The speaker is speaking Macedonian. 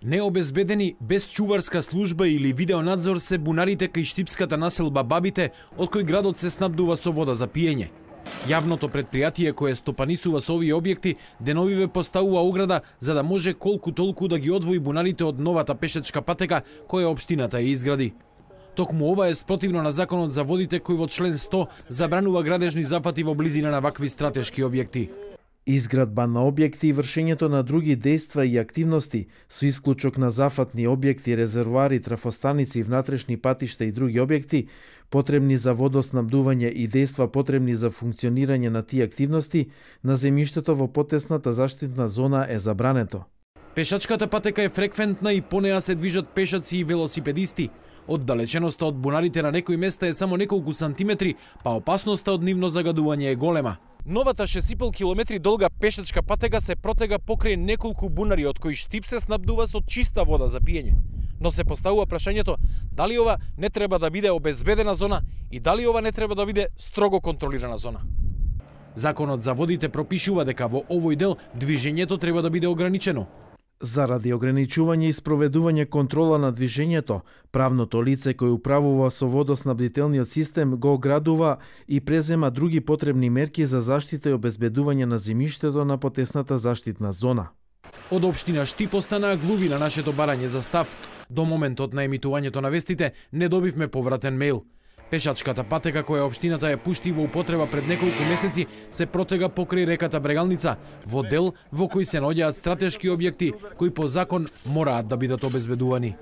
Необезбедени, без чуварска служба или видеонадзор се бунарите кај штипската населба Бабите, од кој градот се снабдува со вода за пиење. Јавното предпријатие кое стопанисува со овие објекти деновиве поставува ограда за да може колку толку да ги одвои бунарите од новата пешачка патека која општината ја изгради. Токму ова е спротивно на законот за водите кој во член 100 забранува градежни зафати во близина на вакви стратешки објекти. Изградба на објекти и вршењето на други дејства и активности, со исклучок на зафатни објекти, резервоари, трафостаници, внатрешни патишта и други објекти, потребни за водоснабдување и дејства потребни за функционирање на тие активности, на земјиштето во потесната заштитна зона е забрането. Пешачката патека е фреквентна и по неа се движат пешаци и велосипедисти. Оддалеченоста од бунарите на некои места е само неколку сантиметри, па опасноста од нивно загадување е голема. Новата 6,5 километри долга пешачка патека се протега покрај неколку бунари од кои Штип се снабдува со чиста вода за пиење. Но се поставува прашањето дали ова не треба да биде обезбедена зона и дали ова не треба да биде строго контролирана зона. Законот за водите пропишува дека во овој дел движењето треба да биде ограничено. Заради ограничување и спроведување контрола на движењето, правното лице кој управува со водоснабдителниот систем го оградува и презема други потребни мерки за заштита и обезбедување на земјиштето на потесната заштитна зона. Од општина Штип останаа глуви на нашето барање за став. До моментот на емитувањето на вестите не добивме повратен мејл. Пешачката патека која општината ја пушти во употреба пред неколку месеци се протега покрај реката Брегалница, во дел во кој се наоѓаат стратешки објекти кои по закон мораат да бидат обезбедувани.